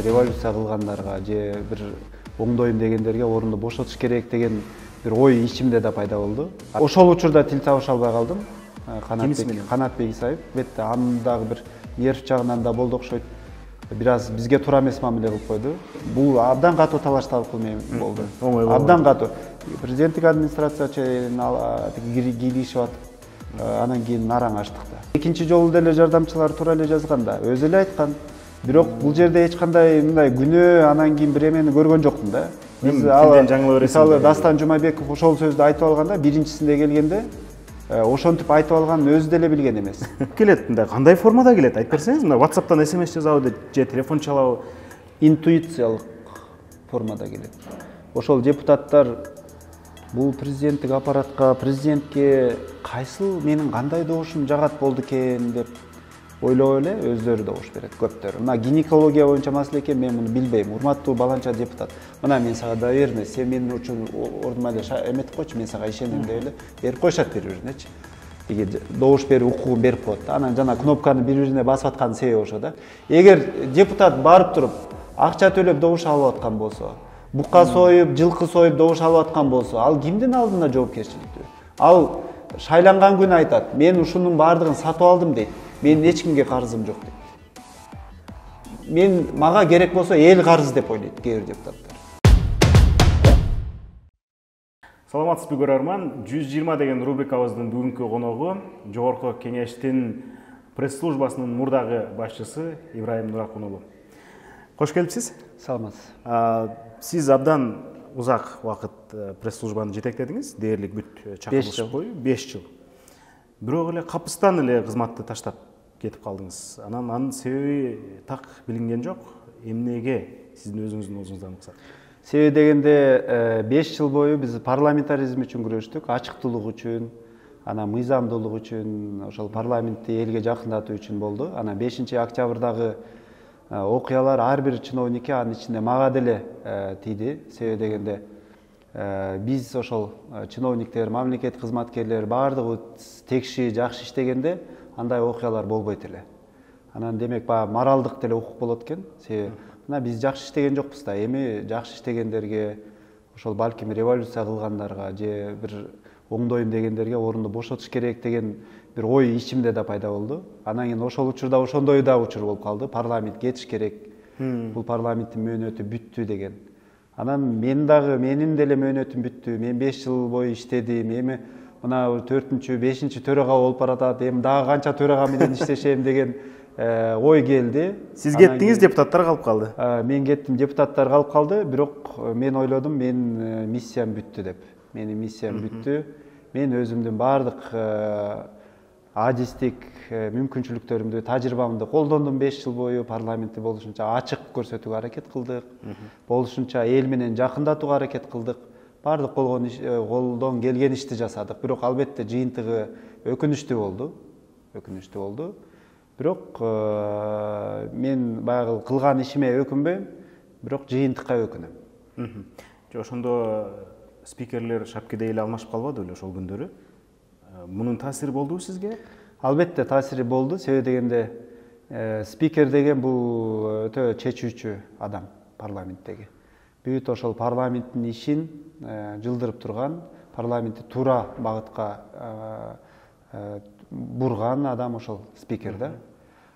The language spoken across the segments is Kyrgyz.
революция кылгандарга же бир оңдойм дегендерге орунду бошотуш керек деген бир ой ичимде да пайда болду. Ошол учурда тил табыша албай калдым. Канатбек Исаев бетте анын дагы бир нерв жагынан да болду окшойт. Бир аз бизге туура эмес мамиле кылып койду. Бул абдан катуу талашталып болду. Абдан катуу. Президенттик администрация чейин кийлигишип атып, анан кийин нараң ачтык да. Экинчи жолу деле жардамчылар туура эле жазган да, өзү эле айткан. Бирок бул жерде эч кандай мындай күнөө анан кийин бир эмени көргөн жокмун да. Биз мисалы Дастан Жумабеков ошол сөздү айтып алганда, биринчисинде келгенде ошентип айтып алганын өзү деле билген эмес. Келет мындай кандай формада келет? Айтып берсеңиз, мына WhatsApp'тан SMS жазабы же телефон чалабы? Интуициялык формада келет. Ошол депутаттар бул президенттик аппаратка, президентке кайсыл менин кандай добушум жагат болду экен деп ойлоп эле өздөрү добуш берет көптөр. Мына гинекология боюнча маселе экен, мен муну билбейм. Урматтуу баланча депутат. Мына мен сага да берме, сен менин үчүн ордума эле эметип койчу, мен сага ишенем деп эле берип коюшат бири-биринечи. Эгер добуш берүү укугун берип коет да, анан жана кнопканы бири-бирине басып атканын себеби ошо да. Эгер депутат барып туруп акча төлөп добуш алып аткан болсо, бука союп, жылкы союп добуш алып аткан болсо, ал кимдин алдында жоопкерчиликтүү? Ал шайланган күнү айтат, мен ушунун баардыгын сатып алдым дейт. Мен эч кимге карызым жок дейт. Мага керек болсо эл карыз деп ойлойт кээ бир депутаттар. Саламатсызбы көрөрман, 120 деген рубрикабыздын бүгүнкү коногу Жогорку Кеңештин пресс-службасынын мурдагы башчысы Ибраим Нуракун уулу. Кош келипсиз. Саламатсыз. Сиз абдан узак убакыт пресс-службаны жетектедиңиз, дээрлик бүт чакырылыш бою 5 жыл. Бирок эле капыстан эле кызматты таштап кетип калдыңыз. Анын себеби так билинген жок. Эмнеге сиздин өзүңүздүн оозуңуздан уксат? Себеби дегенде 5 жыл бою биз парламентаризм үчүн күрөштүк, ачыктуулук үчүн, анан мыйзамдуулук үчүн, ошол парламентти элге жакындатуу үчүн болду. Анан 5-октябрдагы окуялар ар бир чиновникке, анын ичинде мага деле тийди. Себеби дегенде биз ошол чиновниктер, мамлекет кызматкерлери баардыгы текши, жакшы иштегенде андай окуялар болбойт эле. Анан демек баягы моралдык деле укук болот экен. Себеби мына биз жакшы иштеген жокпуз да, эми жакшы иштегендерге, ошол балким революция кылгандарга же бир оңдойм дегендерге орунду бошотуш керек деген бир ой ичимде да пайда болду. Анан кийин ошол учурда ошондой да учур болуп калды. Парламент кетиш керек. Бул парламенттин мөөнөтү бүттү деген. Анан менин деле мөөнөтүм бүттү. Мен 5 жыл бою иштедим. Эми мына 4-5 төрага болуп баратат. Эми дагы канча төрага менен иштешем деген ой келди. Сиз кеттиңиз, депутаттар калып калды. Мен кеттим, депутаттар калып калды. Бирок мен ойлодум, менин миссиям бүттү деп. Менин миссиям бүттү. Мен өзүмдүн баардык адистик мүмкүнчүлүктөрүмдү, тажрыйбамды колдондум 5 жыл бою. Парламентти болушунча ачык көрсөтүүгө аракет кылдык. Болушунча эл менен жакындатууга аракет кылдык. Баардык колдон келген ишти жасадык. Бирок албетте жыйынтыгы өкүнүчтүү болду. Бирок мен баягы кылган ишиме өкүнбөйм, бирок жыйынтыкка өкүнөм. Ошондо спикерлер шапкиде эле алмашып калбады беле ошол күндөрү? Мунун таасири болдубу сизге? Албетте таасири болду. Себеби дегенде спикер деген бул өтө чечүүчү адам парламенттеги. Бүт ошол парламенттин ишин жылдырып турган, парламентти туура багытка бурган адам ошол спикер да.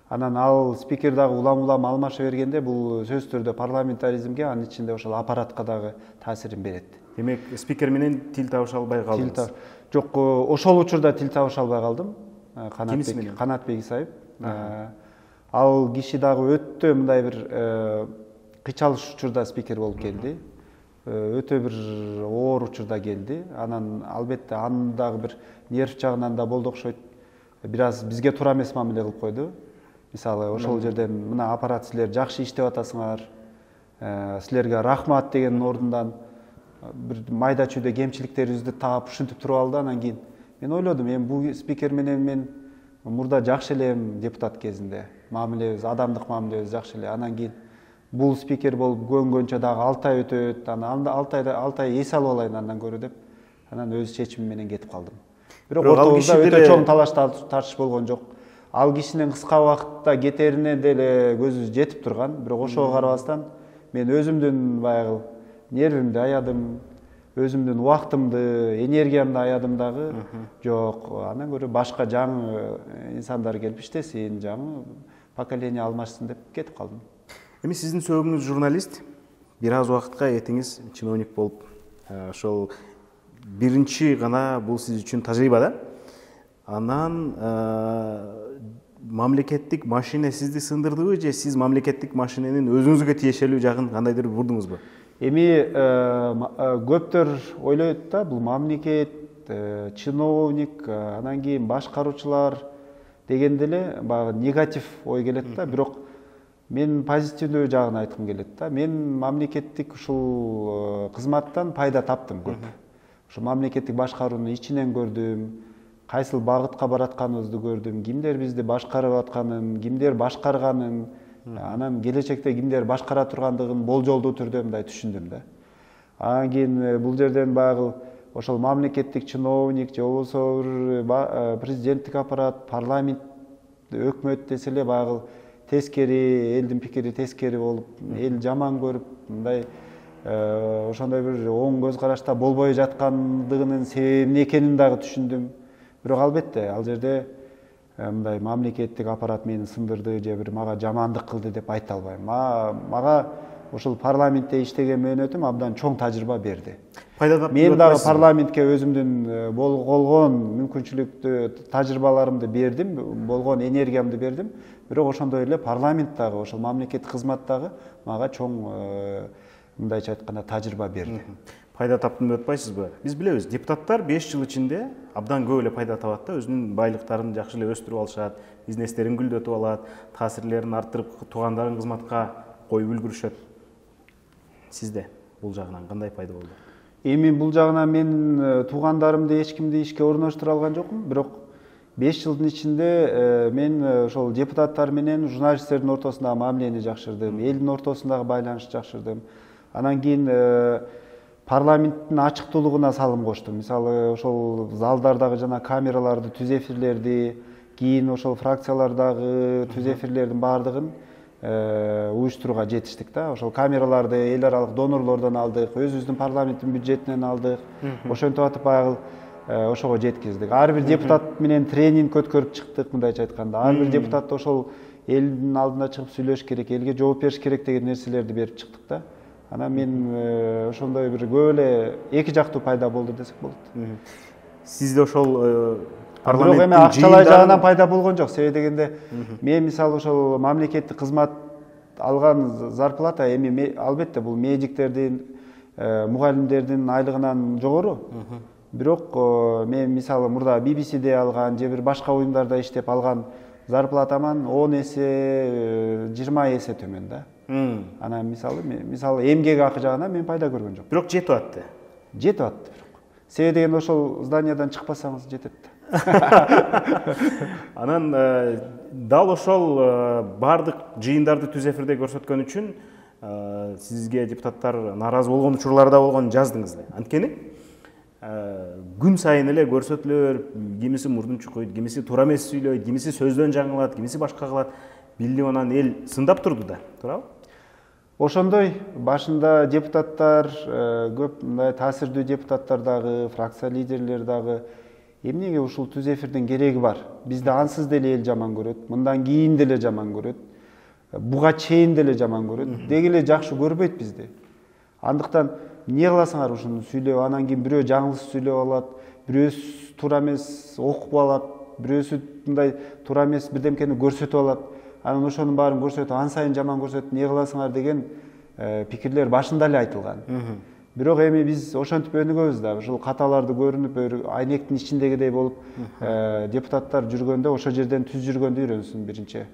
Анан ал спикер дагы улам алмаша бергенде бул сөзсүз түрдө парламентаризмге, анын ичинде ошол аппаратка дагы таасирин берет. Демек, спикер менен тил табыша албай калдыңыз? Жок, ошол учурда тил табыша албай калдым. Канатбек Исаев. Ал киши дагы өтө мындай бир кыйчалыш учурда спикер болуп келди. Өтө бир оор учурда келди. Анан албетте анын дагы бир нерв жагынан да болду окшойт. Бир аз бизге туура эмес мамиле кылып койду. Мисалы, ошол жерден мына аппарат силер жакшы иштеп атасыңар. Силерге рахмат деген ордундан бир майда чүйдө кемчиликтерибизди таап ушинтип туруп алды. Анан кийин мен ойлодум, эми бул спикер менен мен мурда жакшы элем депутат кезинде. Мамилебиз, адамдык мамилебиз жакшы эле. Анан кийин бул спикер болуп көнгөнчө дагы 6 ай өтөт. Анан 6 ай эс алып алайын андан көрө деп, анан өз чечимим менен кетип калдым. Бирок ортобузда өтө чоң талаш тартыш болгон жок. ал кишинин кыска убакытта кетерине деле көзүбүз жетип турган, бирок ошого карабастан мен өзүмдүн баягы нервимди аядым, өзүмдүн убактымды, энергиямды аядым дагы. Жок, андан көрө башка жаңы инсандар келип иштесин, жаңы поколение алмашсын деп кетип калдым. Эми сиздин сөөгүңүз журналист, бир аз убакытка этиңиз чиновник болуп, ошол биринчи гана бул сиз үчүн тажрыйба да. Анан мамлекеттик машина сизди сындырдыбы же сиз мамлекеттик машиненин өзүңүзгө тиешелүү жагын кандайдыр бурдуңузбу? Эми көптөр ойлойт да, бул мамлекет, чиновник, анан кийин башкаруучулар дегенде эле баягы негатив ой келет да, бирок мен позитивдүү жагын айткым келет да. Мен мамлекеттик ушул кызматтан пайда таптым көп. Ошо мамлекеттик башкарууну ичинен көрдүм, кайсыл багытка баратканыбызды көрдүм, кимдер бизди башкарып атканын, кимдер башкарганын, анан келечекте кимдер башкара тургандыгын болжолдуу түрдө мындай түшүндүм да. Анан кийин бул жерден баягы ошол мамлекеттик чиновник же болбосо президенттик аппарат, парламент, өкмөт десе эле баягы тескери, элдин пикири тескери болуп, эл жаман көрүп, мындай ошондой бир оң көз карашта болбой жаткандыгынын себеби эмне экенин дагы түшүндүм. Бирок албетте ал жерде мындай мамлекеттик аппарат мени сындырды же бир мага жамандык кылды деп айта албайм. Мага ошол парламентте иштеген мөөнөтүм абдан чоң тажрыйба берди. Мен дагы парламентке өзүмдүн болгон мүмкүнчүлүктү, тажрыйбаларымды бердим, болгон энергиямды бердим. Бирок ошондой эле парламент дагы, ошол мамлекеттик кызмат дагы мага чоң мындайча айтканда тажрыйба берди. Пайда таптым деп атпайсызбы? Биз билебиз, депутаттар 5 жыл ичинде абдан көп эле пайда табат да, өзүнүн байлыктарын жакшы эле өстүрүп алышат, бизнестерин гүлдөтүп алат, таасирлерин арттырып, туугандарын кызматка коюп үлгүрүшөт. Сизде бул жагынан кандай пайда болду? Эми бул жагынан мен туугандарымды эч кимди ишке орноштура алган жокмун, бирок 5 жылдын ичинде мен ошол депутаттар менен журналисттердин ортосундагы мамилени жакшырдым, элдин ортосундагы байланышты жакшырдым. Анан кийин парламенттин ачыктуулугуна салым коштум. Мисалы, ошол залдардагы жана камераларды, түз эфирлерди, кийин ошол фракциялардагы түз эфирлердин баардыгын уюштурууга жетиштик да. Ошол камераларды эл аралык донорлордон алдык, өзүбүздүн парламенттин бюджетинен алдык. Ошентип атып баягы ошого жеткиздик. Ар бир депутат менен тренинг өткөрүп чыктык, мындайча айтканда. Ар бир депутат ошол элдин алдына чыгып сүйлөш керек, элге жооп бериш керек деген нерселерди берип чыктык да. Анан мен ошондой бир көп эле эки жактуу пайда болду десек болот. Сизде ошол парламенттин эми акчалай жагынан пайда болгон жок. Себеби дегенде мен мисалы ошол мамлекеттик кызмат алган зарплата эми албетте бул медиктердин, мугалимдердин айлыгынан жогору. Бирок мен мисалы мурда BBC'де алган же бир башка уюмдарда иштеп алган зарплатаман 10 эсе, 20 эсе төмөн да. Анан мисалы эмгек акы жагынан мен пайда көргөн жок. Бирок жетип атты. Жетип атты бирок. Себеби деген ошол зданиядан чыкпасаңыз жетет да. Анан дал ошол бардык жыйындарды түз эфирде көрсөткөн үчүн сизге депутаттар нааразы болгон учурлар да болгон жаздыңыз. Анткени күн сайын эле көрсөтүлөр, кимиси мурдун чукуйт, кимиси туура эмес сүйлөйт, кимиси сөздөн жаңылат, кимиси башка кылат. Билип анан эл сындап турду да, туурабы? Ошондой башында депутаттар, көп мындай таасирдүү депутаттар дагы, фракция лидерлери дагы эмнеге ушул түз эфирдин кереги бар? Бизди ансыз деле эл жаман көрөт, мындан кийин деле жаман көрөт, буга чейин деле жаман көрөт, деги эле жакшы көрбөйт бизди. Андыктан эмне кыласыңар ушуну сүйлөп, анан кийин бирөө жаңылыш сүйлөп алат, бирөөсү туура эмес окуп алат, бирөөсү мындай туура эмес бирдемкени көрсөтүп алат. Анан ошонун баарын көрсөтүп, ан сайын жаман көрсөтүп, эмне кыласыңар деген пикирлер башында эле айтылган. Бирок эми биз ошентип өнүгөбүз да, ушул каталарды көрүнүп, айнектин ичиндегидей болуп, депутаттар жүргөндө ошол жерден түз жүргөндү үйрөнсүн биринчи.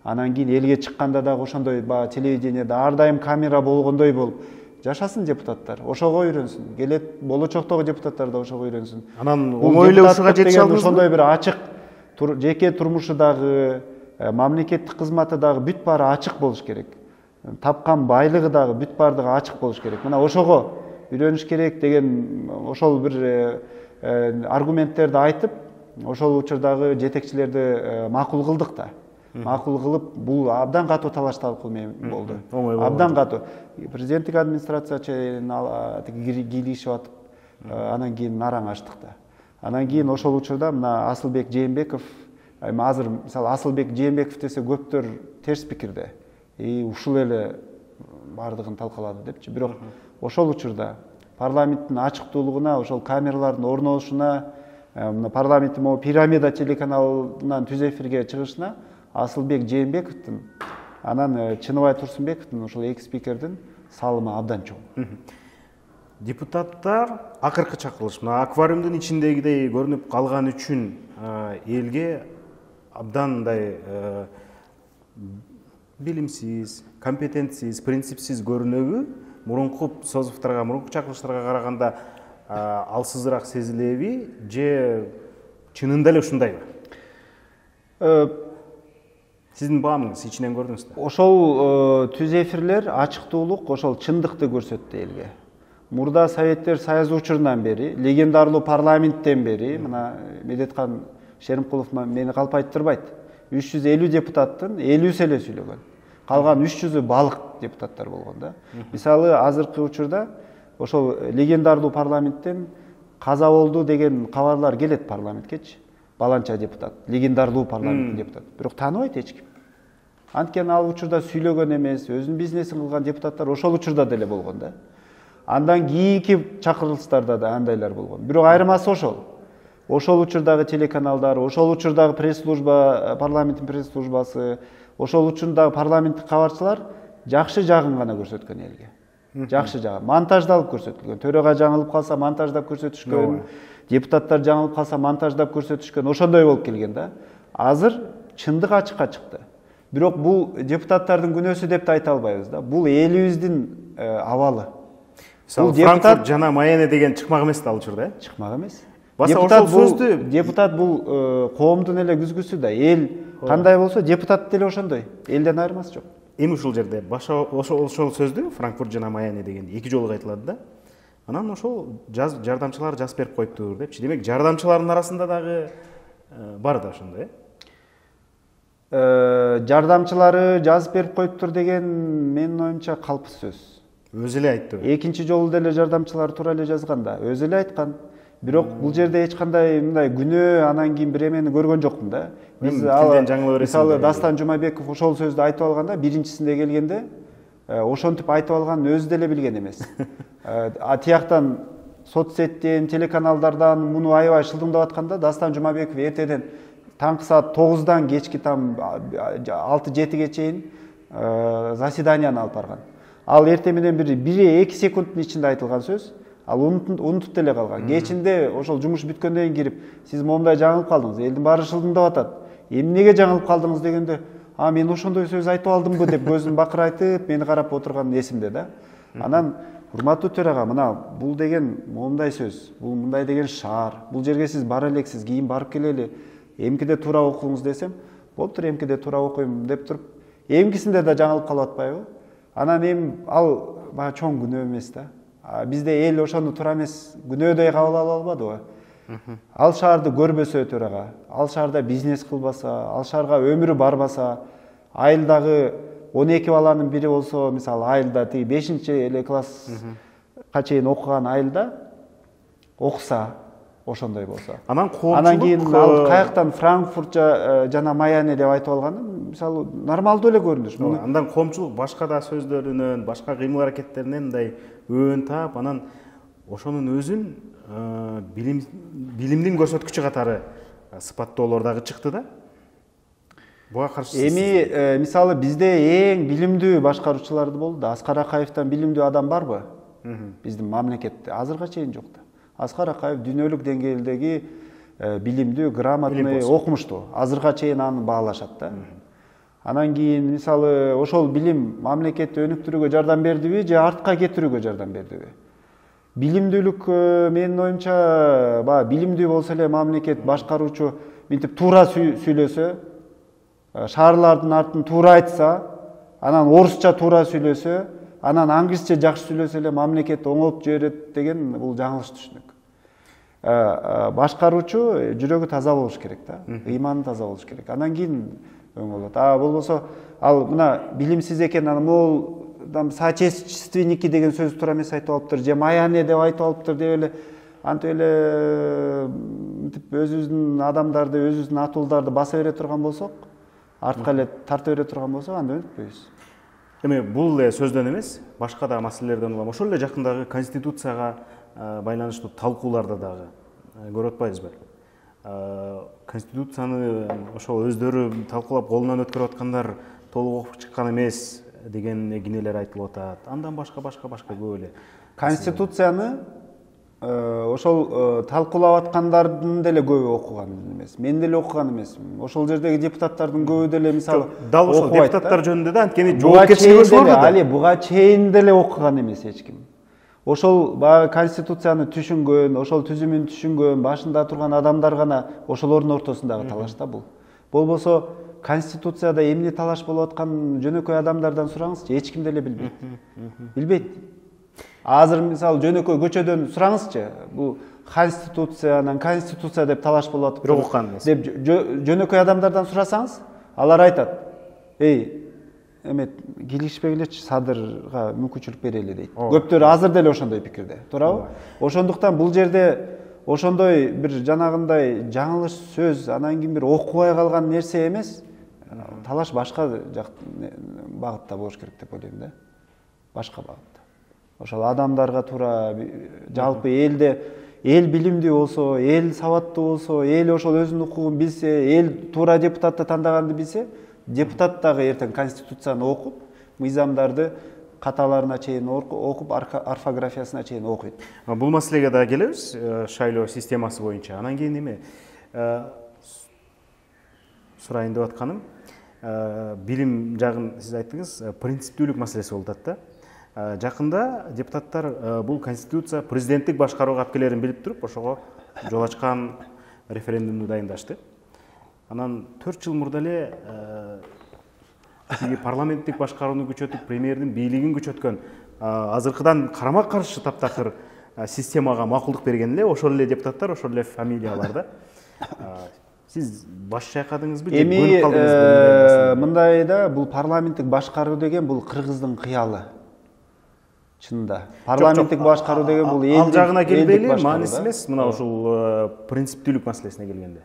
Анан кийин элге чыкканда дагы ошондой телевидениеде ар дайым камера болгондой болуп жашасын депутаттар, ошого үйрөнсүн. Келет болочоктогу депутаттар да ошого үйрөнсүн. Анан оңой эле ушуга жетише алдыңызбы? Ошондой бир ачык жеке турмушу дагы, мамлекеттик кызматы дагы бүт баары ачык болуш керек. Тапкан байлыгы дагы бүт баардыгы ачык болуш керек. Мына ошого үйрөнүш керек деген ошол бир аргументтерди айтып, ошол учурдагы жетекчилерди макул кылдык да. Макул кылып, бул абдан катуу талаш талкуу болду. Абдан катуу. Президенттик администрация чейин кийлигишип атып, анан кийин нараң ачтык да. Анан кийин ошол учурда мына Асылбек Жээнбеков, азыр мисалы Асылбек Жээнбеков десе көптөр терс пикирде. Ушул эле бардыгын талкалады депчи. Бирок ошол учурда парламенттин ачыктуулугуна, ошол камералардын орношуна, парламенттин могу пирамида телеканалынан түз эфирге чыгышына Асылбек Жээнбековдун, анан Чыныбай Турсунбековдун, ошол эки спикердин салымы абдан чоң. Депутаттар акыркы чакырылыш мына аквариумдун ичиндегидей көрүнүп калган үчүн элге абдан мындай билимсиз, компетентсиз, принципсиз көрүнөбү? Мурунку созуктарга, мурунку чакырылыштарга караганда алсызыраак сезилеби же чынында эле ушундайбы? Сиздин баамыңыз ичинен көрдүңүзбү? Ошол түз эфирлер ачыктуулук, ошол чындыкты көрсөттү элге. Мурда Советтер Союзу учурунан бери, легендарлуу парламенттен бери, мына Медеткан Шеримкулов мени калпайтырбайт. 350 депутаттын 50-сі эле сүйлөгөн. Калган 300-ü балык депутаттар болгон да. Мисалы, азыркы учурда ошол легендарлуу парламенттен каза болду деген кабарлар келет парламенткечи. Баланча депутат, легендарлуу парламенттин депутаты. Бирок тааныбайт эч ким. Анткени ал учурда сүйлөгөн эмес, өзүнүн бизнесин кылган депутаттар ошол учурда деле болгон да. Андан кийинки чакырылыштарда да андайлар болгон. Бирок айырмасы ошол. Ошол учурдагы телеканалдар, ошол учурдагы пресс-служба, парламенттин пресс-службасы, ошол учурдагы парламенттик кабарчылар жакшы жагын гана көрсөткөн элге. Жакшы жагы. Монтаждалып көрсөтүлгөн. Төраға жаңылып калса монтаждап көрсөтүшкөн. Депутаттар жаңылып калса монтаждап көрсөтүшкөн. Ошондой болуп келген да. Азыр чындык ачыкка чыкты. Бирок бул депутаттардын күнөөсү деп да айта албайбыз да. Бул элибиздин абалы. Бул Франкфурт жана Майами деген чыкмак эмес да ал учурда, Чыкмак эмес. Депутат бул коомдун эле күзгүсү да. Эл кандай болсо, депутат деле ошондой. Элден айырмасы жок. Эми ушул жерде ошол сөздү Франкфурт жана Майами дегенди эки жолу айтылат да. Анан ошол жардамчылар жазып берип коюптур депчи. Демек, жардамчылардын арасында дагы бар да ошондой, жардамчылары жазып берип коюптур деген менин оюмча калпсыз сөз. Өзү эле айтты. Экинчи жолу деле жардамчылар туура эле жазган да. Өзү эле айткан. Бирок бул жерде эч кандай мындай күнөө, анан кийин бир эмени көргөн жокмун да. Мисалы Дастан Жумабеков ошол сөздү айтып алганда, биринчисинде келгенде ошентип айтып алганын өзү деле билген эмес. Тияктан соцсеттен, телеканалдардан муну аябай шылдыңдап атканда Дастан Жумабеков эртеден таңкы саат 9-дан кечки там 6-7-ге чейин заседанияны алып барган. Ал эртең менен 1-2 секундтун ичинде айтылган сөз. Ал унутуп деле калган. Кечинде ошол жумуш бүткөндөн кийин кирип, сиз момундай жаңылып калдыңыз, элдин баары шылдыңдап атат. Эмнеге жаңылып калдыңыз дегенде, мен ошондой сөз айтып алдымбы деп көзүн бакырайтып, мени карап отурган эсимде да. Анан, урматтуу төрага, мына бул деген момундай сөз, бул мындай деген шаар, бул жерге сиз бара элексиз, кийин барып келели, эмкиде туура окуңуз десем, болуптур, эмкиде туура окуйм деп туруп, эмкисинде да жаңылып калып атпайбы? Анан ал баа чоң күнөө эмес да. Бизде эл ошону туура эмес күнөөдөй кабыл ала албадыбы? Ал шаарды көрбөсө төрага, ал шаарда бизнес кылбаса, ал шаарга өмүрү барбаса, айылдагы 12 баланын бири болсо, мисалы айылда 5-эле класска чейин окуган айылда окуса, ошондой болсо. Анан кийин ал каяктан Франкфурт жана Майами деп айтып алганы, мисалы нормалдуу эле көрүнүш. Андан коомчулук башка да сөздөрүнөн, башка кыймыл аракеттеринен мындай өөн таап, анан ошонун өзүн билимдин көрсөткүчү катары сыпаттоолор дагы чыкты да. Буга каршы эми мисалы бизде эң билимдүү башкаруучуларды болду да. Аскар Акаевден билимдүү адам барбы? Биздин мамлекетте азырга чейин жок да. Аскар Акаев дүйнөлүк деңгээлдеги билимдүү, грамотный, окумуштуу. Азырга чейин аны баалашат да. Анан кийин мисалы ошол билим мамлекетти өнүктүрүүгө жардам бердиби же артка кетирүүгө жардам бердиби? Билимдүүлүк менин оюмча билимдүү болсо эле мамлекет башкаруучу мынтип туура сүйлөсө, шаарлардын артын туура айтса, анан орусча туура сүйлөсө, анан англисче жакшы сүйлөсө эле мамлекет оңолуп жиберет деген бул жаңылыш түшүнүк. башкаруучу жүрөгү таза болуш керек да, ыйманы таза болуш керек. Андан кийин өң болот. Болбосо ал мына билимсиз экен, аны могул соотечественники деген сөз туура эмес айтып алыптыр, же маяне деп айтып алыптыр деп эле антип эле мынтип өзүбүздүн адамдарды, өзүбүздүн атуулдарды баса бере турган болсок, артка эле тарта бере турган болсок, анда өтпөйбүз. Эми бул эле сөздөн эмес, башка да маселелерден улам ошол эле жакындагы конституцияга байланыштуу талкууларда дагы көрүп атпайбызбы? Конституцияны ошол өздөрү талкуулап колунан өткөрүп аткандар толук окуп чыккан эмес деген кинелер айтылып атат. Андан башка көп эле. Конституцияны ошол талкуулап аткандардын деле көбү окуган эмес. Мен деле окуган эмесмин. Ошол жердеги депутаттардын көбү деле мисалы дал ошол депутаттар жөнүндө да анткени жоопкерчилиги ошолордо да. Али буга чейин деле окуган эмес эч ким. Ошол конституцияны түшүнгөн, ошол түзүмүн түшүнгөн, башында турган адамдар гана ошолордун ортосундагы талаш да бул. Болбосо конституцияда эмне талаш болуп аткан жөнөкөй адамдардан сураңызчы, эч ким деле билбейт. Билбейт. Азыр мисалы жөнөкөй көчөдөн сураңызчы, бул конституция деп талаш болуп атып, бирок уккан эмес деп жөнөкөй адамдардан сурасаңыз, алар айтат: "Эй, эме келишпегилечи, садырга мүмкүнчүлүк берели" дейт. Көптөрү азыр деле ошондой пикирде, туурабы? Ошондуктан бул жерде ошондой бир жанагындай жаңылыш сөз, анан кийин бир окубай калган нерсе эмес, талаш башка багытта болуш керек деп ойлойм да. Башка багытта. Ошол адамдарга туура, жалпы элде эл билимдүү болсо, эл сабаттуу болсо, эл ошол өзүнүн укугун билсе, эл туура депутатты тандаганды билсе, депутат дагы эртең конституцияны окуп, мыйзамдарды каталарына чейин окуп, орфографиясына чейин окуйт. Бул маселеге да келебиз, шайлоо системасы боюнча. Анан кийин эме сурайын деп атканым, билим жагын сиз айттыңыз, принциптүүлүк маселеси болуп атат да. Жакында депутаттар бул конституция президенттик башкарууга алып келерин билип туруп, ошого жол ачкан референдумду дайындашты. Анан 4 жыл мурда эле парламенттик башкарууну күчөтүп, премьердин бийлигин күчөткөн, азыркыдан карама каршы таптакыр системага макулдук берген эле ошол эле депутаттар, ошол эле фамилиялар да. Сиз баш чайкадыңызбы же көнүп калдыңызбы? Мындай да, бул парламенттик башкаруу деген бул кыргыздын кыялы. Чынында. Парламенттик башкаруу деген бул элдик. Ал жагына келбейли, мааниси эмес, мына ушул принциптүүлүк маселесине келгенде.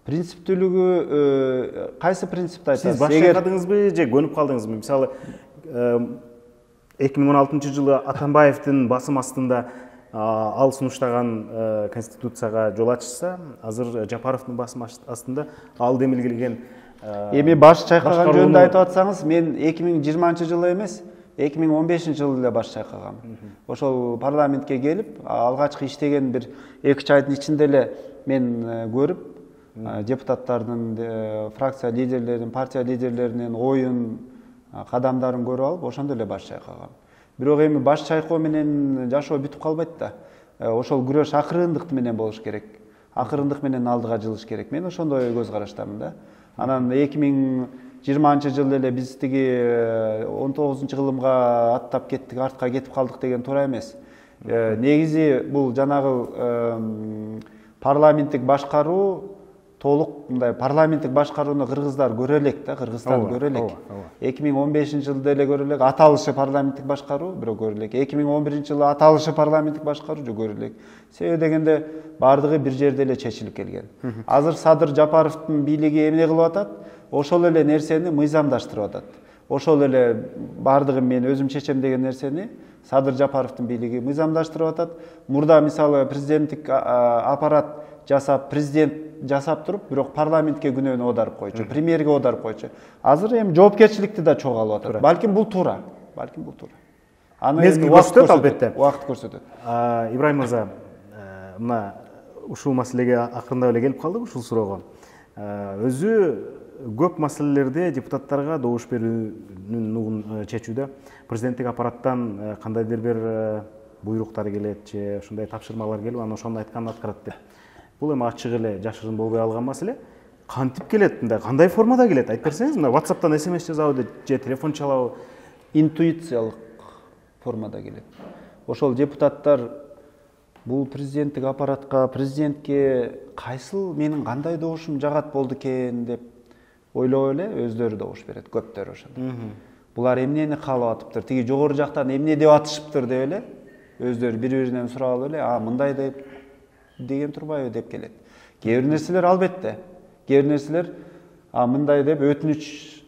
Принциптүүлүгү кайсы принципти айтасыз? Сиз баш чайкадыңызбы же көнүп калдыңызбы? Мисалы 2016-жылы Атамбаевдин басым астында ал сунуштаган конституцияга жол ачышса, азыр Жапаровдун басым астында ал демилгелген эми баш чайкаган жөнүндө айтып атсаңыз, мен 2020-жылы эмес, 2015-жылы эле баш чайкагам. Ошол парламентке келип, алгачкы иштеген бир 2 айдын ичинде эле мен көрүп, депутаттардын, фракция лидерлеринин, партия лидерлеринин оюн, кадамдарын көрүп алып, ошондо эле баш чайкагам. Бирок эми баш чайкоо менен жашоо бүтүп калбайт да. Ошол күрөш акырындык менен болуш керек. Акырындык менен алдыга жылыш керек. Мен ошондой көз караштамын да. Анан 2020-жылы эле биз тиги 19-кылымга аттап кеттик, артка кетип калдык деген туура эмес. Негизи бул жанагы парламенттик башкаруу толук мындай парламенттик башкарууну кыргыздар көрө элек да, Кыргызстан көрө элек. 2015-жылда эле көрө элек, аталышы парламенттик башкаруу бирок көрө элек. 2011-жылы аталышы парламенттик башкаруу көрө элек. Себеби дегенде бардыгы бир жерде эле чечилип келген. Азыр Садыр Жапаровдун бийлиги эмне кылып атат? Ошол эле нерсени мыйзамдаштырып атат. Ошол эле бардыгы мен өзүм чечем деген нерсени Садыр Жапаровдун бийлиги мыйзамдаштырып атат. Мурда мисалы президенттик аппарат жасап, президент жасап туруп, бирок парламентке күнөөнү оодарып койчу, премьерге оодарып койчу. Азыр эми жоопкерчиликти да чогуу алып атат. Балким бул туура. Аны көрсөтөт албетте. Убакыт көрсөтөт. Ибрайым мырза, мына ушул маселеге акырындап эле келип калдык, ушул суроого. Өзү көп маселелерде депутаттарга добуш берүүнүн нугун чечүүдө президенттик аппараттан кандайдыр бир буйруктар келет же ушундай тапшырмалар келип, анан ошону айтканын аткарат деп. Бул эми ачык эле жашырын болбой алган маселе. Кантип келет, мындай кандай формада келет? Айтып берсеңиз, мына WhatsApp'тан SMS жазабы же телефон чалабы? Интуициялык формада келет. Ошол депутаттар бул президенттик аппаратка, президентке кайсыл менин кандай добушум жагат болду экен деп ойлоп эле өздөрү добуш берет, көптөрү ошондо. Булар эмнени каалап атыптыр, тиги жогору жактан эмне деп атышыптыр деп эле өздөрү бири-биринен сурап эле, мындай деп деген турбайбы деп келет. Кээ бир нерселер албетте, кээ бир нерселер мындай деп өтүнүч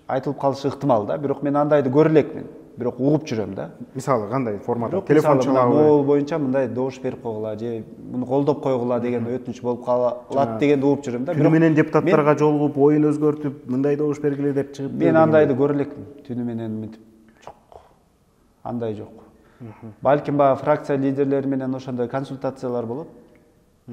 айтылып калышы ыктымал да, бирок мен андайды көрө элекмин. Бирок угуп жүрөм да. Мисалы кандай форматта? Телефон чалабы, могул боюнча мындай добуш берип койгула же муну колдоп койгула деген өтүнүч болуп калат дегенди угуп жүрөм да. Бирок менен депутаттарга жолугуп, оюн өзгөртүп, мындай добуш бергиле деп чыгып. Мен андайды көрө элекмин. Түнү менен мынтип жок. Андай жок. Балким фракция лидерлери менен ошондой консультациялар болот.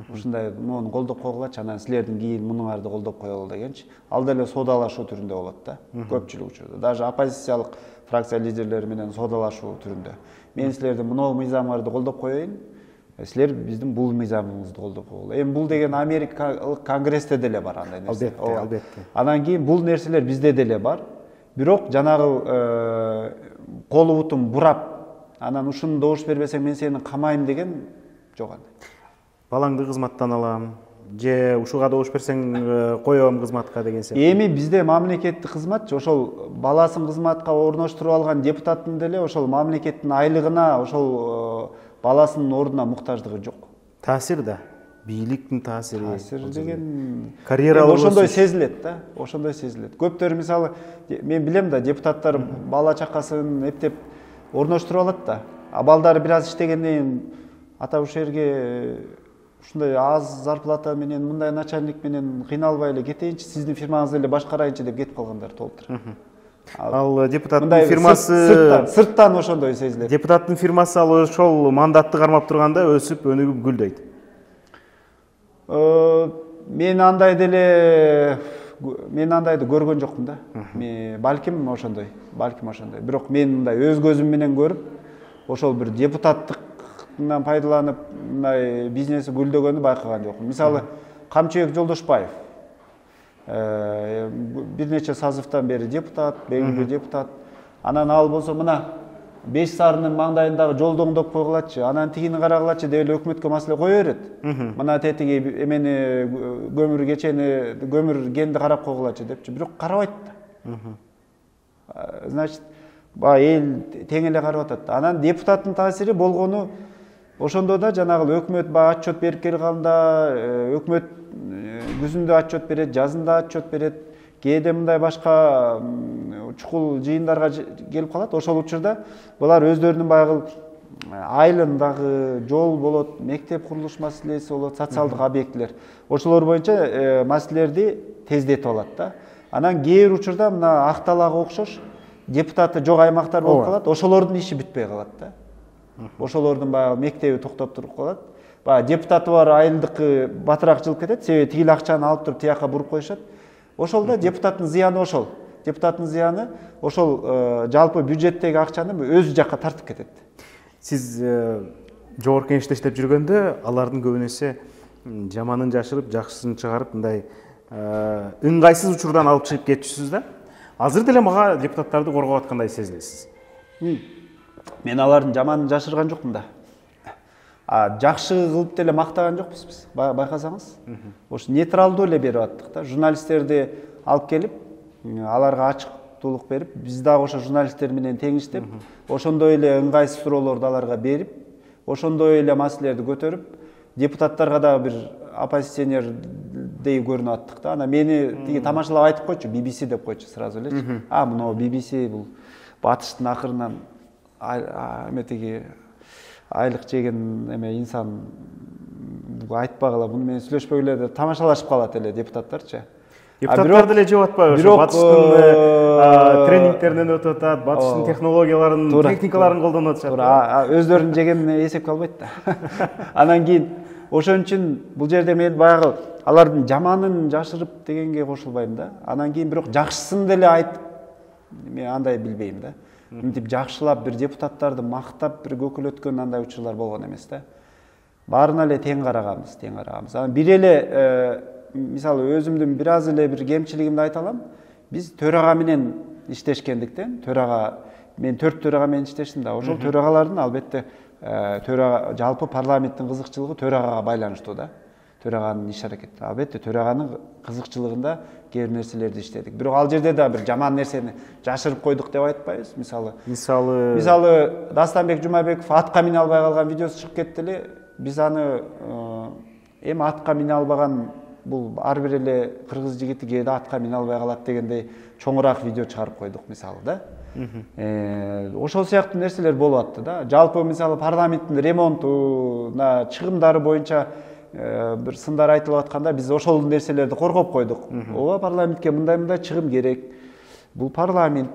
Ушундай муну колдоп койгулачы, анан силердин кийин мунуңарды колдоп коелу дегенчи. Ал деле соодалашуу түрүндө болот да. Көпчүлүк учурда. Даже оппозициялык фракция лидерлери менен соодалашуу түрүндө. Мен силердин мынау мыйзамыңарды колдоп коеюн, силер биздин бул мыйзамыбызды колдоп койгула. Эми бул деген Америкалык конгрессте деле бар андай нерсе. Албетте. Анан кийин бул нерселер бизде деле бар. Бирок жанагы колу бутун бурап, анан ушуну добуш бербесең мен сени камайм деген жок андай. Балаңды кызматтан алам, же ушуга добуш берсең коем кызматка деген сыяктуу. Эми бизде мамлекеттик кызматчы ошол баласын кызматка орноштуруп алган депутаттын деле ошол мамлекеттин айлыгына, ошол баласынын ордуна муктаждыгы жок. Таасир да, бийликтин таасири. Таасир деген карьералык ошондой сезилет да, ошондой сезилет. Көптөр мисалы мен билем да, депутаттар бала чакасын эптеп орноштуруп алат да. Балдары бир аз иштегенден кийин ата ушул жерге ушундай аз зарплата менен, мындай начальник менен кыйналбай эле кетейинчи, сиздин фирмаңызды эле башкарайынчы деп кетип калгандар толтур. Ал депутаттын фирмасы сырттан ошондой сезилет. Депутаттын фирмасы ал ошол мандатты кармап турганда өсүп, өнүгүп гүлдөйт. Мен андайды көргөн жокмун да. Балким ошондой. Бирок мен мындай өз көзүм менен көрүп, ошол бир депутаттыктан пайдаланып, мындай бизнеси гүлдөгөнү байкаган жокмун. Мисалы, Камчыбек Жолдошбаев бир нече сазывтан бери депутат, белгилүү депутат. Анан ал болсо мына Беш Сарынын маңдайындагы жолду оңдоп койгулачы, анан тигини карагылачы деп эле өкмөткө маселе кое берет. Мына тетиги эмени көмүр генди карап койгулачы депчи, бирок карабайт да. Значит, эл тең эле карап атат. Анан депутаттын таасири болгону ошондо да жанагы өкмөт отчет берип келганда, өкмөт күзүндө отчет берет, жазында отчет берет, кээде мындай башка чукул жыйындарга келип калат. Ошол учурда булар өздөрүнүн баягы айылындагы жол болот, мектеп курулуш маселеси болот, социалдык объектилер. Ошолор боюнча маселелерди тездетип алат да. Анан кээ бир учурда мына Акталага окшош депутаты жок аймактар болуп калат, ошолордун иши бүтпөй калат да. Ошолордун баягы мектеби токтоп туруп калат. Депутаты бар айылдыкы батыраак жылып кетет, себеби тигил акчаны алып туруп тияка буруп коюшат. Ошол да депутаттын зыяны ошол. Депутаттын зыяны ошол жалпы бюджеттеги акчаны өзү жакка тартып кетет. Сиз жогорку кеңеште иштеп жүргөндө алардын көбүнөсү жаманын жашырып, жакшысын чыгарып, мындай ыңгайсыз учурдан алып чыгып кетчүсүз да. Азыр деле мага депутаттарды коргоп аткандай сезилесиз. Мен алардын жаманын жашырган жокмун да. Жакшы кылып деле мактаган жокпуз биз. Байкасаңыз, ошо нейтралдуу эле берип аттык да. Журналисттерди алып келип, аларга ачыктуулук берип, биз дагы ошо журналисттер менен тең иштеп, ошондой эле ыңгайсыз суроолорду аларга берип, ошондой эле маселелерди көтөрүп, депутаттарга дагы бир оппозиционердей көрүнүп аттык да. Анан мени тиги тамашалап айтып койчу, BBC деп койчу сразу элечи. Мына BBC бул батыштын акырынан эметиги айлык жеген эме инсан айтпагыла, муну менен сүйлөшпөгүлө деп тамашалашып калат эле депутаттарчы. Депутаттар деле жеп атпайбы? Ошо батыштын тренингтеринен өтүп атат, батыштын технологияларын, техникаларын колдонуп атышат. Өздөрүнүн жегенин эсепке албайт да. Анан кийин ошон үчүн бул жерде мен баягы алардын жаманын жашырып дегенге кошулбайм да. Анан кийин бирок жакшысын деле айтып, мен андай билбейм да. Мынтип жакшылап бир депутаттарды мактап бир көкөлөткөн андай учурлар болгон эмес да. Баарына эле тең караганбыз. Анан бир эле мисалы өзүмдүн бир аз эле бир кемчилигимди айта алам. Биз төрага менен иштешкендиктен, мен 4 төрага менен иштештим да. Ошол төрагалардын албетте жалпы парламенттин кызыкчылыгы төрагага байланыштуу да. Төраганын иш аракети. Албетте төраганын кызыкчылыгында кээ бир нерселерди иштедик. Бирок ал жерде да бир жаман нерсени жашырып койдук деп айтпайбыз. Мисалы Дастанбек Жумабеков атка мине албай калган видеосу чыгып кетти эле. Биз аны эми атка мине албаган бул ар бир эле кыргыз жигити кээде атка мине албай калат дегендей чоңураак видео чыгарып койдук мисалы да. Ошол сыяктуу нерселер болуп атты да. Жалпы мисалы парламенттин ремонтуна чыгымдары боюнча бир сындар айтылып атканда биз ошол нерселерди коргоп койдук. Ооба парламентке мындай чыгым керек. Бул парламент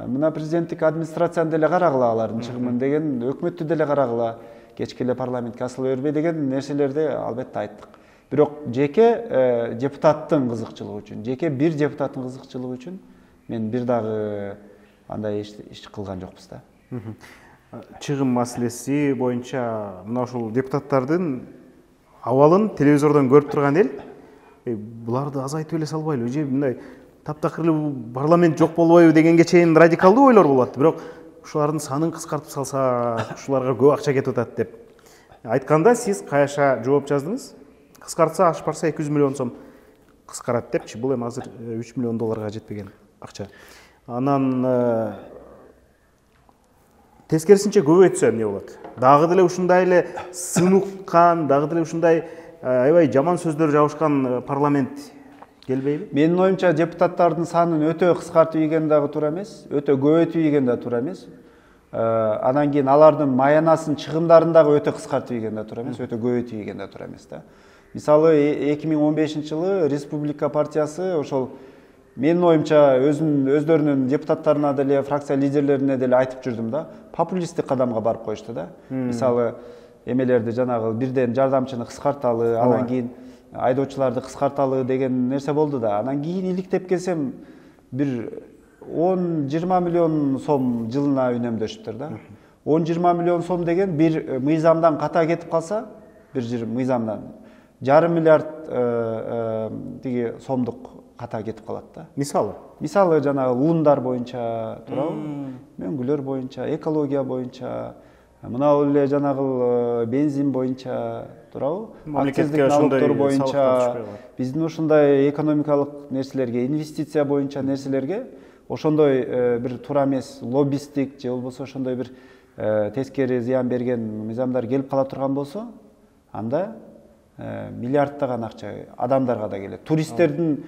мына президенттик администрацияны деле карагыла алардын чыгымын деген, өкмөттү деле карагыла, кечке эле парламентке асыла бербей деген нерселерди албетте айттык. Бирок жеке депутаттын кызыкчылыгы үчүн, жеке бир депутаттын кызыкчылыгы үчүн мен бир дагы андай иш кылган жокпуз да. Чыгым маселеси боюнча мына ушул депутаттардын абалын телевизордон көрүп турган эл буларды азайтып эле салбайлы, же мындай таптакыр эле парламент жок болбойбу дегенге чейин радикалдуу ойлор болуп атты. Бирок ушулардын санын кыскартып салсак, ушуларга көп акча кетип атат деп айтканда сиз каяша жооп жаздыңыз. Кыскартса ашып барса 200 миллион сом кыскарат депчи. Бул эми азыр 3 миллион долларга жетпеген акча. Анан тескерисинче көбөйтсө эмне болот? Дагы деле ушундай эле сыныккан, дагы деле ушундай аябай жаман сөздөр жабышкан парламент келбейби? Менин оюмча депутаттардын санын өтө кыскартып ийген дагы туура эмес, өтө көбөйтүп ийген да туура эмес. Анан кийин алардын маянасын, чыгымдарын дагы өтө кыскартып ийген да туура эмес, өтө көбөйтүп ийген да туура эмес да. Мисалы 2015-жылы Республика партиясы ошол менин оюмча өздөрүнүн депутаттарына деле, фракция лидерлерине деле айтып жүрдүм да, популисттик кадамга барып коюшту да. Мисалы эмелерди жанагы бирден жардамчыны кыскарталы, анан кийин айдоочуларды кыскарталы деген нерсе болду да. Анан кийин иликтеп келсем бир 10-20 миллион сом жылына үнөмдөшүптүр да. 10-20 миллион сом деген бир мыйзамдан ката кетип калса, бир мыйзамдан 1,5 миллиард тиги сомдук ката кетип калат да. Мисалы жанагы уундар боюнча, туурабы? Мөңгүлөр боюнча, экология боюнча, мына эле жанагы бензин боюнча, туурабы? Мамлекетке ошондой боюнча, биздин ушундай экономикалык нерселерге, инвестиция боюнча нерселерге ошондой бир туура эмес лоббисттик же болбосо ошондой бир тескери зыян берген мыйзамдар келип кала турган болсо, анда миллиарддаган акча адамдарга да келет. Туристтердин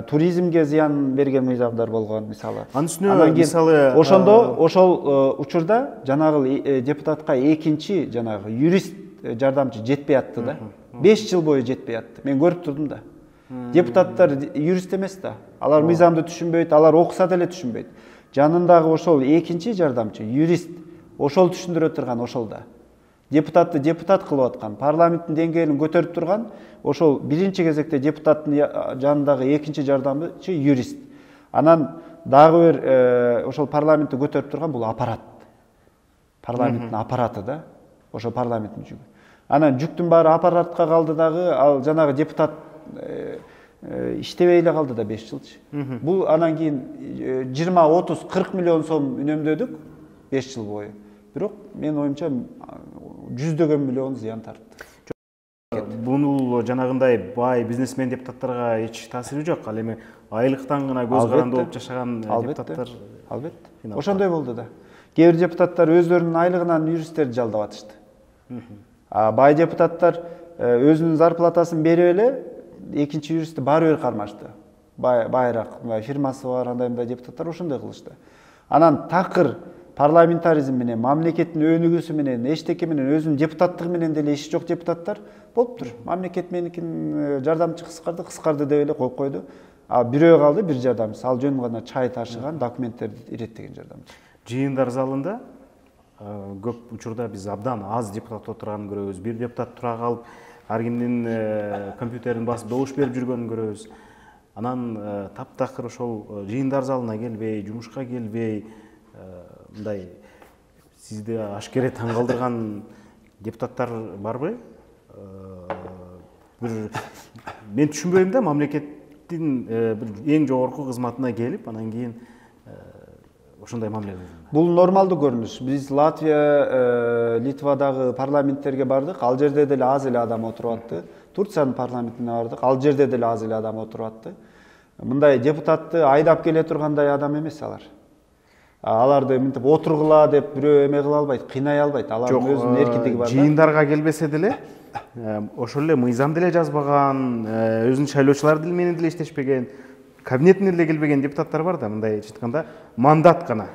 туризмге зыян берген мыйзамдар болгон мисалы. Анын үстүнө мисалы ошол учурда жанагы депутатка экинчи жанагы юрист жардамчы жетпей атты да. 5 жыл бою жетпей атты. Мен көрүп турдум да. Депутаттар юрист эмес да. Алар мыйзамды түшүнбөйт, алар окуса деле түшүнбөйт. Жанындагы ошол экинчи жардамчы юрист ошол түшүндүрө турган ошол да. Депутатты депутат кылып аткан, парламенттин деңгээлин көтөрүп турган ошол биринчи кезекте депутаттын жанындагы экинчи жардамчы юрист. Анан дагы бир ошол парламентти көтөрүп турган бул аппарат. Парламенттин аппараты да. Ошол парламенттин жүгү. Анан жүктүн баары аппаратка калды дагы, ал жанагы депутат иштебей эле калды да 5 жылчы. Бул анан кийин 20, 30, 40 миллион сом үнөмдөдүк 5 жыл бою. Бирок менин оюмча жүздөгөн миллион зыян тартты. Бул жанагындай бай бизнесмен депутаттарга эч таасири жок. Ал эми айлыктан гана көз каранды болуп жашаган депутаттар албетте. Ошондой болду да. Кээ бир депутаттар өздөрүнүн айлыгынан юристтерди жалдап атышты. Бай депутаттар өзүнүн зарплатасын берип эле экинчи юристти баары бир кармашты. Байыраак фирмасы бар андай депутаттар ошондой кылышты. Анан такыр парламентаризм менен, мамлекеттин өнүгүүсү менен, эчтеке менен, өзүнүн депутаттыгы менен деле иши жок депутаттар болуптур. Мамлекет меникин жардамчы кыскарды деп эле коюп койду. А бирөө калды, бир жардамчысы. Ал жөн гана чай ташыган, документтерди иреттеген жардамчы. Жыйындар залында көп учурда биз абдан аз депутат отурганын көрөбүз. Бир депутат тура калып, ар кимдин компьютерин басып добуш берип жүргөнүн көрөбүз. Анан таптакыр ошол жыйындар залына келбей, жумушка келбей, мындай сизди ашкере таң калтырган депутаттар барбы? Мен түшүнбөйм да, мамлекеттин бир эң жогорку кызматына келип, анан кийин ошондой мамиле кылган? Бул нормалдуу көрүнүш. Биз Латвия, Литвадагы парламенттерге бардык. Ал жерде деле аз эле адам отуруп атты. Турциянын парламентине бардык. Ал жерде деле аз эле адам отуруп атты. Мындай депутатты айдап келе тургандай адам эмес алар. Аларды мынтип отургула деп бирөө эме кыла албайт, кыйнай албайт. Алардын өзүнүн эркиндиги бар. Жыйындарга келбесе деле ошол эле мыйзам деле жазбаган, өзүнүн шайлоочулар дил менен деле иштешпеген, кабинетине деле келбеген депутаттар бар да, мындай айтканда мандат гана.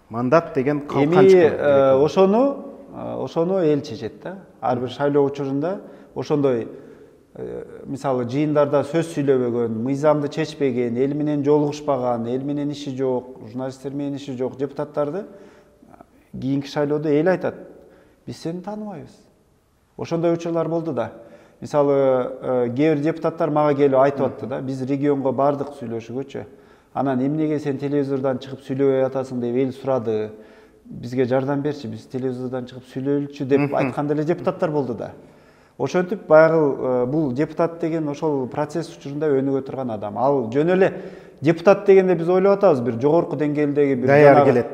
Мандат деген эми ошону эл чечет да. Ар бир шайлоо учурунда ошондой мисалы жыйындарда сөз сүйлөбөгөн, мыйзамды чечпеген, эл менен жолугушпаган, эл менен иши жок, журналисттер менен иши жок депутаттарды кийинки шайлоодо эл айтат: биз сени тааныбайбыз. Ошондой учурлар болду да. Мисалы кээ бир депутаттар мага келип айтып атты да: биз регионго бардык сүйлөшүүгөчү. Анан эмнеге сен телевизордон чыгып сүйлөбөй атасың деп эл сурады. Бизге жардам берчи, биз телевизордон чыгып сүйлөйлүчү деп айткан деле депутаттар болду да. Ошентип баягы бул депутат деген ошол процесс учурунда өнүгө турган адам. Ал жөн эле депутат дегенде биз ойлоп атабыз бир жогорку деңгээлдеги бир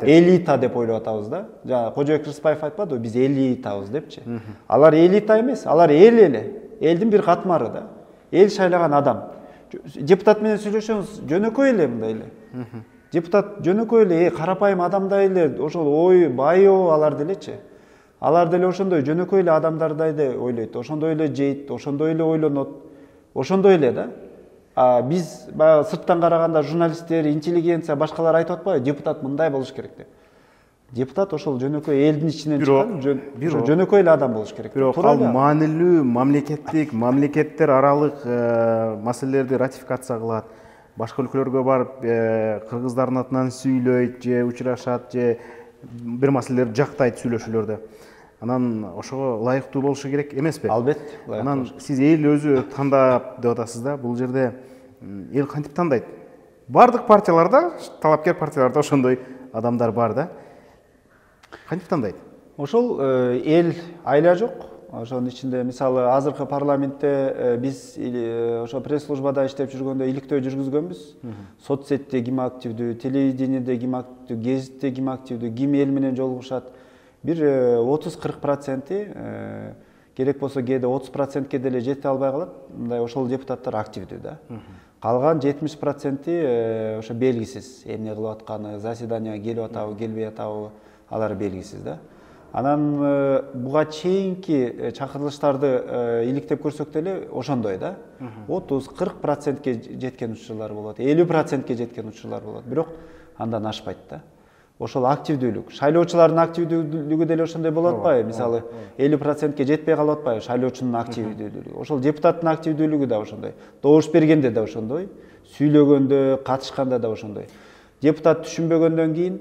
элита деп ойлоп атабыз да. Жана Кожоек Рыспаев айтпадыбы, биз элитабыз депчи. Алар элита эмес, алар эл эле. Элдин бир катмары да. Эл шайлаган адам. Депутат менен сүйлөшөңүз жөнөкөй эле мындай эле. Депутат жөнөкөй эле карапайым адамдай эле, ошол ой байоо алар делечи. Алар деле ошондой жөнөкөй эле адамдардай эле ойлойт, ошондой эле жейт, ошондой эле ойлонот, ошондой эле да. Биз баягы сырттан караганда журналисттер, интеллигенция, башкалар айтып атпайбы, депутат мындай болуш керек деп. Депутат ошол жөнөкөй элдин ичинен чыккан жөнөкөй эле адам болуш керек. Бирок ал маанилүү мамлекеттер аралык маселелерди ратификация кылат. Башка өлкөлөргө барып кыргыздардын атынан сүйлөйт же учурашат же бир маселелерди жактайт сүйлөшүүлөрдө. Анан ошого ылайыктуу болушу керек эмеспи? Албетте. Анан сиз эл өзү тандап деп атасыз да. Бул жерде эл кантип тандайт? Бардык партияларда, талапкер партияларда ошондой адамдар бар да. Кантип тандайт? Ошол эл айла жок. Ошонун ичинде мисалы азыркы парламентте биз ошо пресс-службада иштеп жүргөндө иликтөө жүргүзгөнбүз. Соцсетте ким активдүү, телевидениеде ким активдүү, гезитте ким активдүү, ким эл менен жолугушат. Бир 30-40% керек болсо кээде 30%ке деле жете албай калат. Мындай ошол депутаттар активдүү да. Калган 70% ошо белгисиз. Эмне кылып атканы, заседанияга келип атабы, келбей атабы, алар белгисиз да. Анан буга чейинки чакырылыштарды иликтеп көрсөк деле ошондой да. 30-40%ке жеткен учурлар болот, 50%ке жеткен учурлар болот. Бирок андан ашпайт да. Ошол активдүүлүк, шайлоочулардын активдүүлүгү деле ошондой болуп атпайбы? Мисалы 50%ке жетпей калып атпайбы шайлоочунун активдүүлүгү. Ошол депутаттын активдүүлүгү да ошондой. Добуш бергенде да ошондой, сүйлөгөндө, катышканда да ошондой. Депутат түшүнбөгөндөн кийин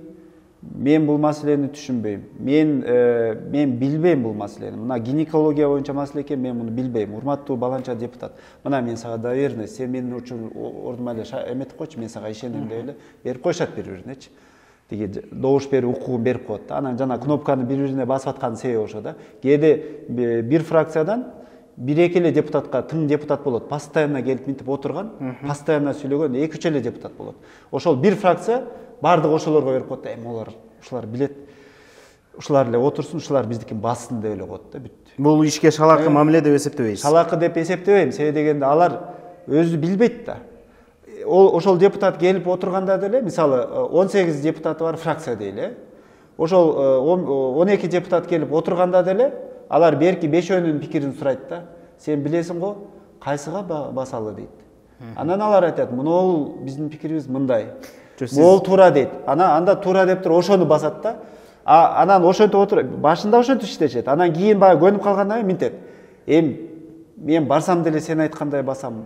мен бул маселени түшүнбөйм. Мен билбейм бул маселени. Мына гинекология боюнча маселе экен, мен муну билбейм. Урматтуу баланча депутат. Мына мен сага доверенность, сен менин ордума эле эметип койчу, мен сага ишенем деп эле берип коюшат бири-биринечи. Деги добуш берүү укугун берип коет. Анан жана кнопканы бири-бирине басып атканын себеби ошо да. Кээде бир фракциядан бир-эки эле депутатка тың депутат болот. Постоянно келип мынтип отурган, постоянно сүйлөгөн 2-3 эле депутат болот. Ошол бир фракция бардык ошолорго берип коет. Ушулар билет. Ушулар эле отурсун, ушулар биздикин бассын деп эле коет да, бүттү. Бул ишке шалакы мамиле деп эсептебейсиз? Шалакы деп эсептебейм. Себеби дегенде алар өзү билбейт да. Ошол депутат келип отурганда деле, мисалы 18 депутаты бар фракция дейли. Ошол 12 депутат келип отурганда деле алар берки 5-өөнүн пикирин сурайт да. Сен билесиң го, кайсыга басалы дейт. Анан алар айтат: "Мунул биздин пикирибиз мындай." Могул туура дейт. Анда туура деп туруп ошону басат да. Анан ошентип отуруп, башында ошентип иштешет. Анан кийин баягы көнүп калгандан кийин мынтет: "Мен барсам деле сен айткандай басам.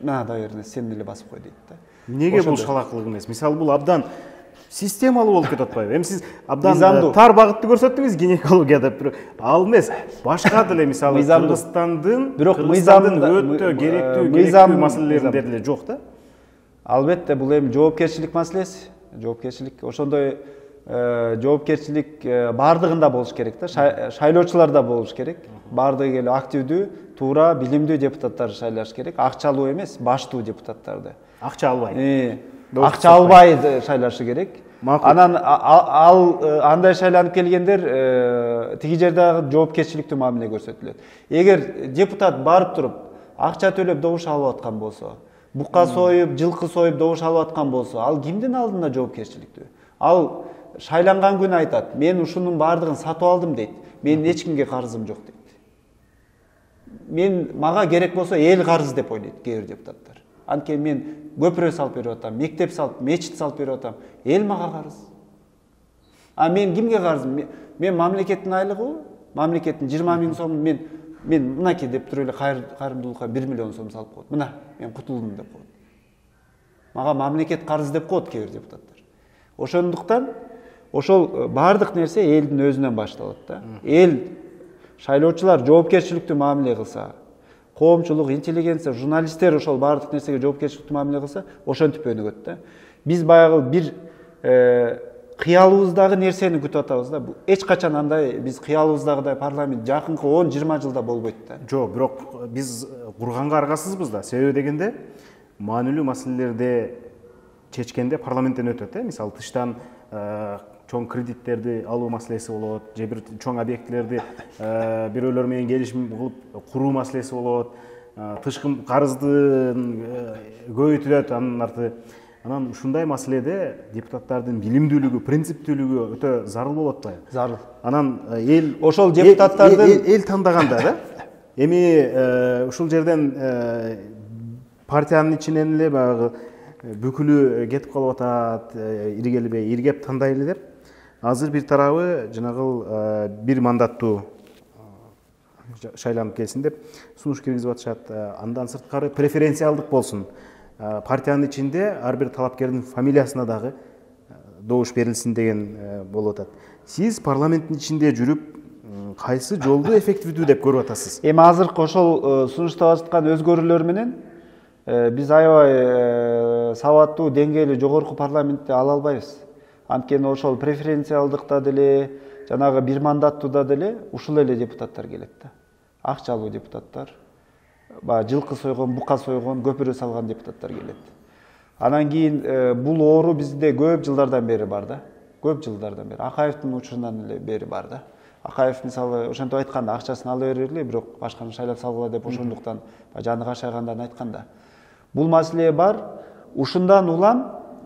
Мына доверенность сен деле басып кой" дейт да. Эмнеге бул шалакылык эмес? Мисалы бул абдан системалуу болуп кетип атпайбы? Эми сиз абдан тар багытты көрсөттүңүз гинекологияда, бирок ал эмес. Башка деле мисалы Кыргызстандын өтө керектүү маселелеринде деле жок да. Албетте, бул эми жоопкерчилик маселеси. Жоопкерчилик ошондой жоопкерчилик бардыгында болуш керек да. Шайлоочуларда болуш керек. Бардыгы эле активдүү, туура, билимдүү депутаттар шайлаш керек. Акчалуу эмес, баштуу депутаттарды. Акча албай. Акча албай шайлашы керек. макул. Анан андай шайланып келгендер тиги жердагы жоопкерчиликтүү мамиле көрсөтүлөт. Эгер депутат барып туруп акча төлөп добуш алып аткан болсо, бука союп, жылкы союп добуш алып аткан болсо, ал кимдин алдында жоопкерчиликтүү? Ал шайланган күнү айтат, мен ушунун баардыгын сатып алдым дейт. Менин эч кимге карызым жок дейт. Мага керек болсо эл карыз деп ойлойт кээ бир депутаттар. Анткени мен көпүрө салып берип атам, мектеп салып, мечит салып берип атам. Эл мага карыз. А мен кимге карызым? Мен мамлекеттин айлыгы, мамлекеттин 20 000 сомун мен мынакей деп туруп эле кайрымдуулукка 1 миллион сом салып коет. Мына, мен кутулдум деп коет. Мага мамлекет карыз деп коет кээ бир депутаттар. Ошондуктан ошол баардык нерсе элдин өзүнөн башталат да. Эл шайлоочулар жоопкерчиликтүү мамиле кылса, коомчулук, интеллигенция, журналисттер ошол баардык нерсеге жоопкерчиликтүү мамиле кылса, ошентип өнүгөт да. Биз баягы бир кыялыбыздагы нерсени күтүп атабыз да. Эч качан андай биз кыялыбыздагыдай парламент жакынкы 10-20 жылда болбойт да. Жок, бирок биз курганга аргасызбыз да. Себеби дегенде маанилүү маселелерди чечкенде парламенттен өтөт, мисалы тыштан чоң кредиттерди алуу маселеси болот, же бир чоң объектилерди бирөөлөр менен келишим кылып куруу маселеси болот, тышкы карызды көбөйтүлөт анын арты. Анан ушундай маселеде депутаттардын билимдүүлүгү, принциптүүлүгү өтө зарыл болуп атпайбы? Зарыл. Анан эл ошол депутаттардын эл тандаганда да. Эми ушул жерден партиянын ичинен эле баягы бүкүлү кетип калып атат, иргелбей, иргеп тандайлы деп. Азыр бир тарабы жанагыл бир мандаттуу шайланып келсин деп сунуш киргизип атышат. Андан сырткары преференциалдык болсун. Партиянын ичинде ар бир талапкердин фамилиясына дагы добуш берилсин деген болуп атат. Сиз парламенттин ичинде жүрүп, кайсы жолду эффективдүү деп көрүп атасыз? Эми азыркы ошол сунуштап аткан өзгөрүүлөр менен биз аябай сабаттуу, деңгээли жогорку парламентти ала албайбыз. Анткени ошол преференциалдыкта деле, жанагы бир мандаттууда деле ушул эле депутаттар келет да. Акчалуу депутаттар, жылкы сойгон, бука сойгон, көпүрө салган депутаттар келет. Анан кийин бул оору бизде көп жылдардан бери бар да. Көп жылдардан бери. Акаевдин учурунан эле бери бар да. Акаев мисалы ошентип айтканда, акчасын ала бергиле, бирок башканы шайлап салгыла деп ошондуктан жаны кашайгандан айтканда. Бул маселе бар.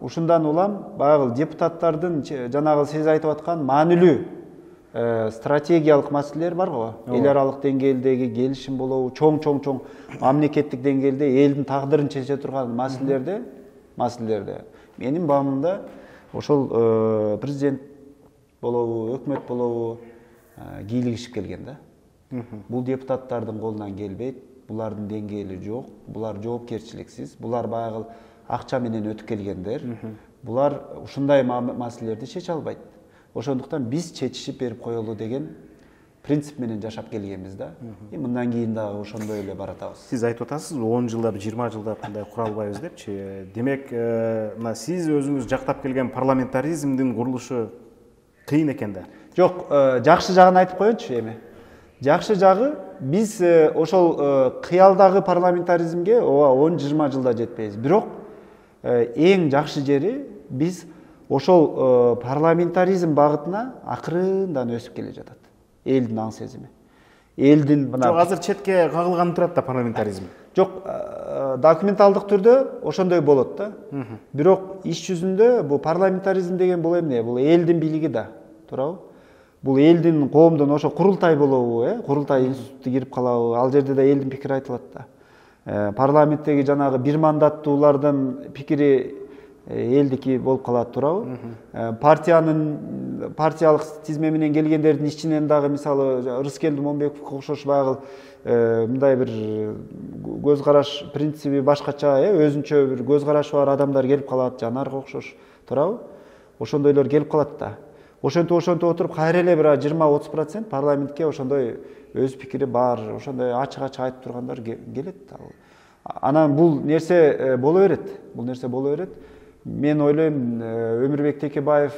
Ушундан улам баягы депутаттардын жанагы сиз айтып аткан маанилүү стратегиялык маселелер бар го. Эл аралык деңгээлдеги келишим болобу, чоң мамлекеттик деңгээлде элдин тагдырын чече турган маселелерде менин баамымда ошол президент болобу, өкмөт болобу кийлигишип келген да. Бул депутаттардын колунан келбейт, булардын деңгээли жок, булар жоопкерчиликсиз, булар баягы акча менен өтүп келгендер. Булар ушундай маселелерди чече албайт. Ошондуктан биз чечишип берип коелу деген принцип менен жашап келгенбиз да. Мындан кийин дагы ошондой эле баратабыз. Сиз айтып атасыз, 10 жылда, 20 жылда кандай кура албайбыз депчи. Демек, мына сиз өзүңүз жактап келген парламентаризмдин курулушу кыйын экен да. Жок, жакшы жагын айтып коеюнчу эми. Жакшы жагы биз ошол кыялдагы парламентаризмге 10-20 жылда жетпейбиз. Бирок эң жакшы жери биз ошол парламентаризм багытына акырындан өсүп келе жатат. Элдин аң сезими. Элдин мына Жок, азыр четке кагылган турат да парламентаризм. Жок, документалдык түрдө ошондой болот да. Бирок иш жүзүндө бул парламентаризм деген бул эмне? Бул элдин бийлиги да, туурабы? Бул элдин, коомдун ошо курултай болобу, курултай институту кирип калабы? Ал жерде да элдин пикири айтылат да. Парламенттеги жанагы бир мандаттуулардын пикири элдики болуп калат, туурабы? Партиялык тизме менен келгендердин ичинен дагы мисалы Рыскелди Момбековго окшош баягы мындай бир көз караш принциби башкача, өзүнчө бир көз карашы бар адамдар келип калат, Жанарга окшош, туурабы? Ошондойлор келип калат да. Ошентип отуруп кайра эле бир 20-30% парламентке ошондой өз пикири бар, ошондой ачык айтып тургандар келет. Анан бул нерсе боло берет. Мен ойлойм, Өмүрбек Текебаев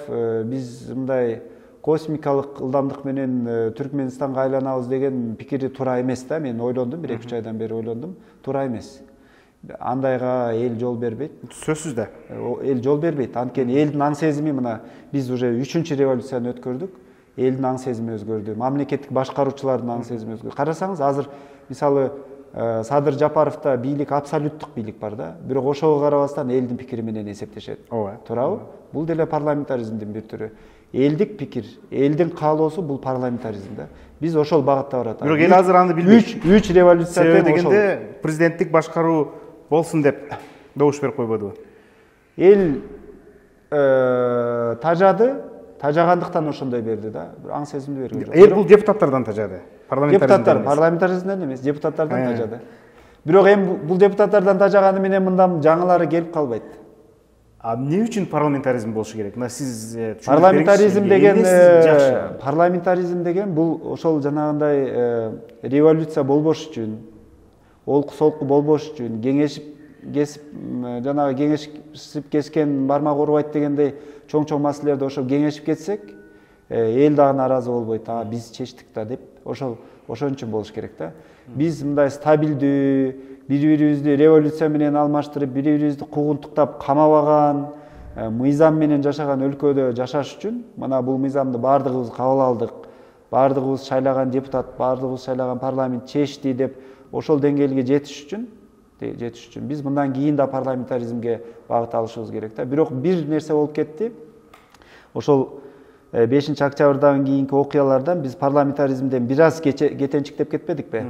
биз мындай космикалык ылдамдык менен Түркменистанга айланабыз деген пикири туура эмес да. Мен ойлондум, 1-2 айдан бери ойлондум, туура эмес. андайга эл жол бербейт. Сөзсүз да. Эл жол бербейт. Анткени элдин аң сезими мына биз уже 3-чү революцияны өткөрдүк. Элдин аң сезими өзгөрдү. Мамлекеттик башкаруучулардын аң сезими өзгөрдү. Карасаңыз, азыр мисалы Садыр Жапаровда бийлик, абсолюттук бийлик бар да. Бирок ошого карабастан элдин пикири менен эсептешет. Ооба. Туурабы? Бул деле парламентаризмдин бир түрү. Элдик пикир, элдин каалоосу бул парламентаризм да. Биз ошол багытта баратабыз. Бирок эл азыр аны билбейт. 3 революция дегенде президенттик башкаруу болсун деп добуш берип койбодубу? Эл тажагандыктан ошондой берди да. Аң сезимди берген жок. Эл бул депутаттардан тажады. Парламентаризмден эмес, депутаттардан тажады. Бирок эми бул депутаттардан тажаганы менен мындан жаңылары келип калбайт. Эмне үчүн парламентаризм болушу керек? Мына сиз парламентаризм деген бул ошол жанагындай революция болбош үчүн, олку солку болбош үчүн, кеңешип кескен бармак урбайт дегендей чоң маселелерди ошол кеңешип кетсек, эл дагы нааразы болбойт. Биз чечтик да деп, ошол үчүн болуш керек да. Биз мындай стабилдүү, бири-бирибизди революция менен алмаштырып, бири-бирибизди куугунтуктап камабаган, мыйзам менен жашаган өлкөдө жашаш үчүн мына бул мыйзамды баардыгыбыз кабыл алдык. Баардыгыбыз шайлаган депутат, баардыгыбыз шайлаган парламент чечти деп ошол деңгээлге жетиш үчүн биз мындан кийин да парламентаризмге багыт алышыбыз керек да. Бирок бир нерсе болуп кетти. Ошол 5-октябрдан кийинки окуялардан биз парламентаризмден бир аз кетенчиктеп кетпедикпи?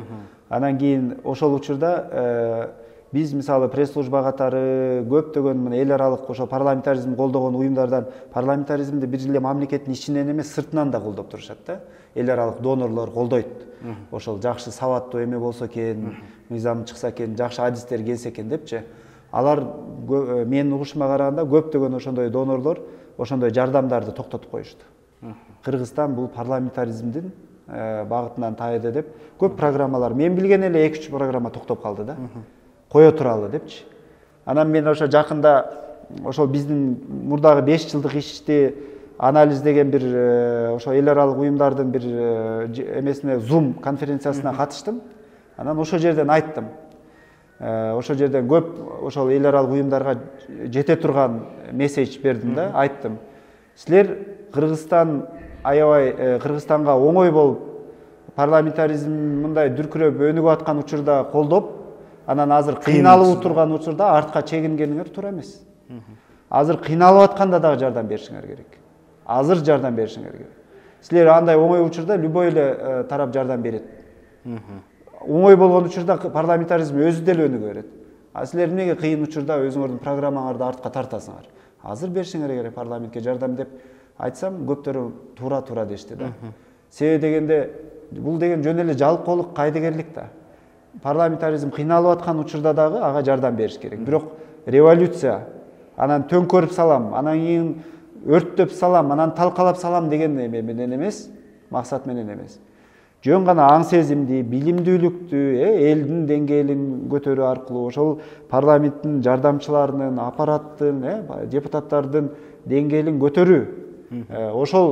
Анан кийин ошол учурда биз мисалы пресс-служба катары көптөгөн мына эл аралык ошо парламентаризм колдогон уюмдардан парламентаризмди бир эле мамлекеттин ичинен эмес, сыртынан да колдоп турушат да. Эл аралык донорлор колдойт. Ошол жакшы сабаттуу эме болсо экен, мыйзам чыкса экен, жакшы адистер келсе экен депчи. Алар менин угушума караганда көптөгөн ошондой донорлор ошондой жардамдарды токтотуп коюшту. Кыргызстан бул парламентаризмдин багытынан тайды деп көп программалар, мен билген эле 2-3 программа токтоп калды да. Кое туралы депчи. Анан мен ошо жакында ошол биздин мурдагы 5 жылдык ишти анализдеген бир ошо эл аралык уюмдардын бир эмесине Zoom конференциясына катыштым. Анан ошол жерден айттым. Ошол жерден көп ошол эл аралык уюмдарга жете турган месседж бердим да, айттым. Силер Кыргызстан аябай Кыргызстанга оңой болуп парламентаризм мындай дүркүрөп өнүгүп аткан учурда колдоп, анан азыр кыйналып турган учурда артка чегингениңер туура эмес. Азыр кыйналып атканда дагы жардам беришиңер керек. Силер андай оңой учурда любой эле тарап жардам берет. Оңой болгон учурда парламентаризм өзү деле өнүгө берет. Силер эмнеге кыйын учурда өзүңөрдүн программаңарды артка тартасыңар? Азыр беришиңер керек парламентке жардам деп айтсам, көптөрү туура дешти да. Себеби дегенде бул деген жөн эле жалкоолук, кайдыгерлик да. Парламентаризм кыйналып аткан учурда дагы ага жардам бериш керек. Бирок революция, анан төңкөрүп салам, анан кийин өрттөп салам, анан талкалап салам деген эме менен эмес, максат менен эмес. Жөн гана аң сезимди, билимдүүлүктү, элдин деңгээлин көтөрүү аркылуу ошол парламенттин жардамчыларынын, аппараттын, депутаттардын деңгээлин көтөрүү, ошол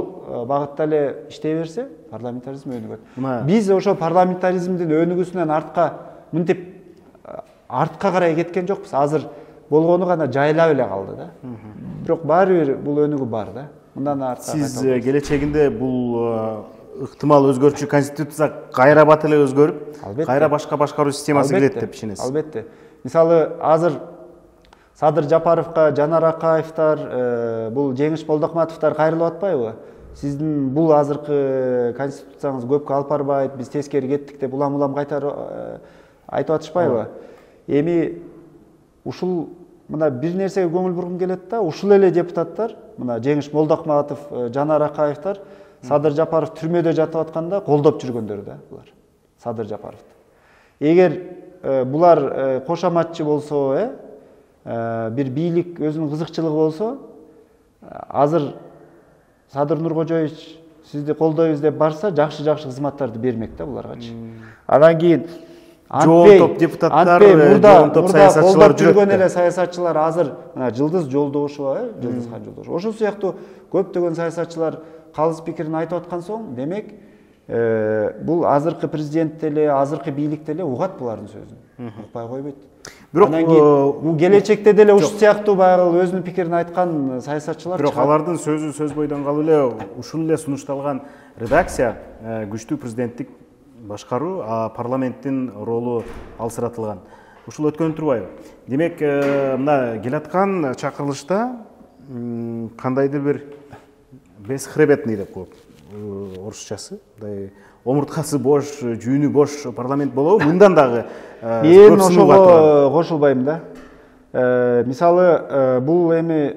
багытта эле иштей берсе, парламентаризм өнүгөт. Биз ошо парламентаризмдин өнүгүүсүнөн мынтип артка карай кеткен жокпуз. Азыр болгону гана жайлап эле калды да. Бирок баары бир бул өнүгүү бар да. Мындан артка. Сиз келечегинде бул ыктымал өзгөрчү конституция кайра бат эле өзгөрүп, кайра башка башкаруу системасы келет деп ишенесиз? Албетте. Мисалы азыр Садыр Жапаровго Жанар Акаевдер, бул Жеңиш Молдокматовдор кайрылып атпайбы? Сиздин бул азыркы конституцияңыз көпкө алып барбайт, биз тескери кеттик деп улам кайтарып айтып атышпайбы? Эми ушул мына бир нерсеге көңүл бургум келет да, ушул эле депутаттар, мына Жеңиш Молдокматов, Жанар Акаевдер Садыр Жапаров түрмөдө жатып атканда колдоп жүргөндөр да булар. Садыр Жапаровду. Эгер булар кошоматчы болсо, бир бийлик өзүнүн кызыкчылыгы болсо, азыр Садыр Нуркожоевич сизди колдойбуз деп барса, жакшы кызматтарды бермек да буларгачы. Анан кийин топ депутаттар, топ саясатчылар жүргөн эле саясатчылар азыр мына Жылдыз Жолдошова, Жылдызхан Жолдошов. Ошол сыяктуу көптөгөн саясатчылар калыс пикирин айтып аткан соң, демек бул азыркы президент деле, азыркы бийлик деле угат булардын сөзүн. Укпай койбойт. Бирок анан кийин келечекте деле ушул сыяктуу баягы өзүнүн пикирин айткан саясатчылар бирок алардын сөзү сөз бойдон калып эле ушул эле сунушталган редакция күчтүү президенттик башкаруу, а парламенттин ролу алсыратылган. Ушул өткөнүп турбайбы? Демек, мына келаткан чакырылышта кандайдыр бир бесхребетный деп коет орусчасы, мындай омурткасы бош, жүүнү бош парламент болобу? Мындан дагы мен ошого кошулбайм да. Мисалы, бул эми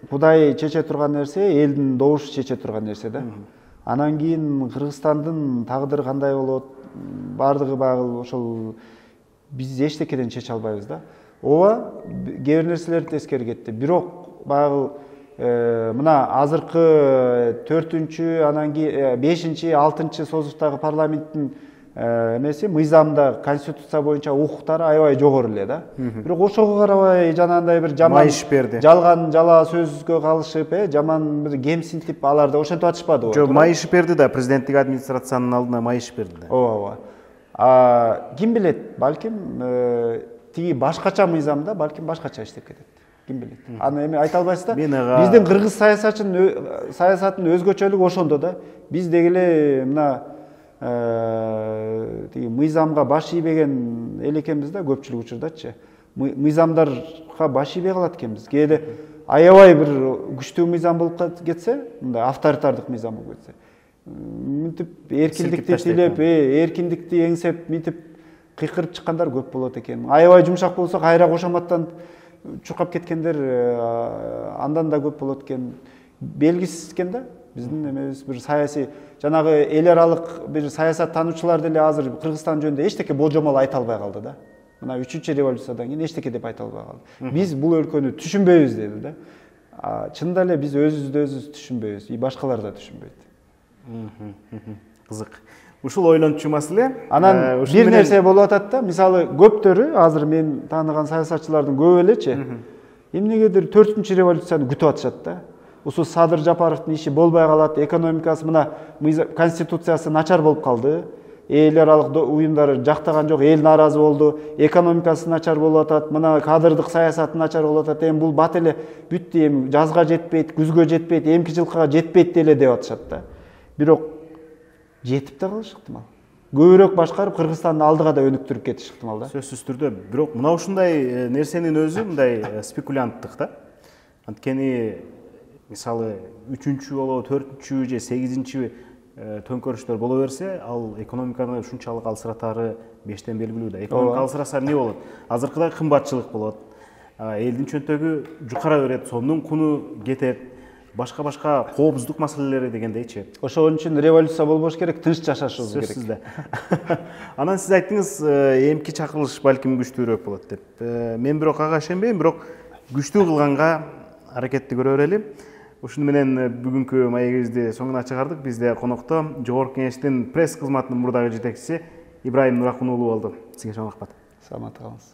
Кудай чече турган нерсе, элдин добушу чече турган нерсе да. Анан кийин Кыргызстандын тагдыры кандай болот, бардыгы баягы ошол биз эчтекеден чече албайбыз да. Ооба, кээ бир нерселерди тескери кетти. Бирок баягы мына азыркы 4-чү, анан кийин 5-чи, 6-чы созуктагы парламенттин эмеси мыйзамда конституция боюнча укуктары аябай жогору эле да. Бирок ошого карабай жанагындай бир жаман жалган жала сөзгө калышып, жаман бир кемсинтип аларды ошентип атышпадыбы? Жок, майыш берди да, президенттик администрациянын алдына майыш берди да. Ооба. Ким билет, балким тиги башкача мыйзамда балким башкача иштеп кетет. Ким билет. Аны эми айта албайсыз да. Биздин кыргыз саясатынын өзгөчөлүгү ошондо да. Биз деги эле мына тиги мыйзамга баш ийбеген эл экенбиз да, көпчүлүк учурдачы. Мыйзамдарга баш ийбей калат экенбиз. Кээде аябай бир күчтүү мыйзам болуп кетсе, мындай авторитардык мыйзам болуп кетсе, мынтип эркиндикти тилеп, эркиндикти эңсеп, мынтип кыйкырып чыккандар көп болот экен. Аябай жумшак болсо кайра кошоматтан чуркап кеткендер андан да көп болот экен. Белгисиз экен да. Биздин эмебиз бир саясий жанагы эл аралык бир саясат таануучулар деле азыр Кыргызстан жөнүндө эчтеке болжомол айта албай калды да. Мына 3-чү революциядан кийин эчтеке деп айта албай калды. Биз бул өлкөнү түшүнбөйбүз деди да. Чынында эле биз өзүбүздү өзүбүз түшүнбөйбүз, башкалар да түшүнбөйт. Кызык. Ушул ойлончу маселе. Анан бир нерсе болуп атат да. Мисалы, көптөрү азыр мен тааныган саясатчылардын көбү элечи эмнегедир 4-чү революцияны күтүп атышат да. Ушул Садыр Жапаровдун иши болбой калат, экономикасы мына конституциясы начар болуп калды. Эл аралык уюмдар жактаган жок, эл нааразы болду, экономикасы начар болуп атат, мына кадырдык саясаты начар болуп атат. Эми бул бат эле бүттү, эми жазга жетпейт, күзгө жетпейт, эмки жылкыга жетпейт деле деп атышат да. Бирок жетип да калышы ыктымал. Көбүрөөк башкарып Кыргызстанды алдыга да өнүктүрүп кетиш ыктымал да. Сөзсүз түрдө. Бирок мына ушундай нерсенин өзү мындай спекулянттык да. Анткени мисалы 3-чү болобу, 4-чү же 8-чи төңкөрүштөр боло берсе, ал экономиканы ушунчалык алсыратары бештен белгилүү да. Экономика алсыраса эмне болот? Азыркыдай кымбатчылык болот. Элдин чөнтөгү жукара берет, сомдун куну кетет. Башка коопсуздук маселелери дегендейчи. Ошон үчүн революция болбош керек, тынч жашашыбыз керек. Сөзсүз да. Анан сиз айттыңыз, эмки чакырылыш балким күчтүүрөөк болот деп. Мен бирок ага ишенбейм, бирок күчтүү кылганга аракетти көрө берели. Ушуну менен бүгүнкү маегибизди соңуна чыгардык. Бизде конокто Жогорку Кеңештин пресс кызматынын мурдагы жетекчиси Ибрайым Нуракун уулу болду. Сизге чоң рахмат. Саламат калыңыз.